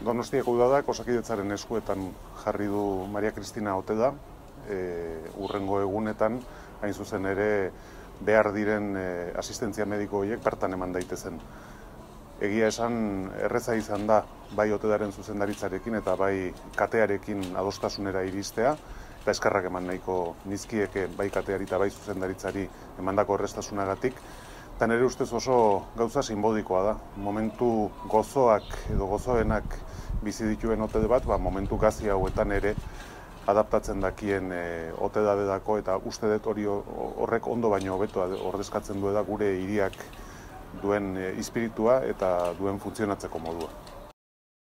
Donostiako udadak Osakidetzaren eskuetan jarri du Maria Kristina Oteda, urrengo egunetan, hain zuzen ere, behar diren asistentzia mediko horiek bertan eman daitezen. Egia esan, erreza izan da, bai Otedaren zuzendaritzarekin eta bai katearekin adostasunera iristea, eta eskerrak eman nahiko nizkieke bai kateari eta bai zuzendaritzari emandako errestasunagatik. Eta nire ustez oso gauza sinbolikoa da. Momentu gozoak edo gozoenak bizi dituen Otede bat, momentu gazi hauetan ere adaptatzen dakien Oteda dedako, eta uste dut horrek ondo baino hobeto ordezkatzen duela gure hiriak duen espiritua eta duen funtzionatzeko modua.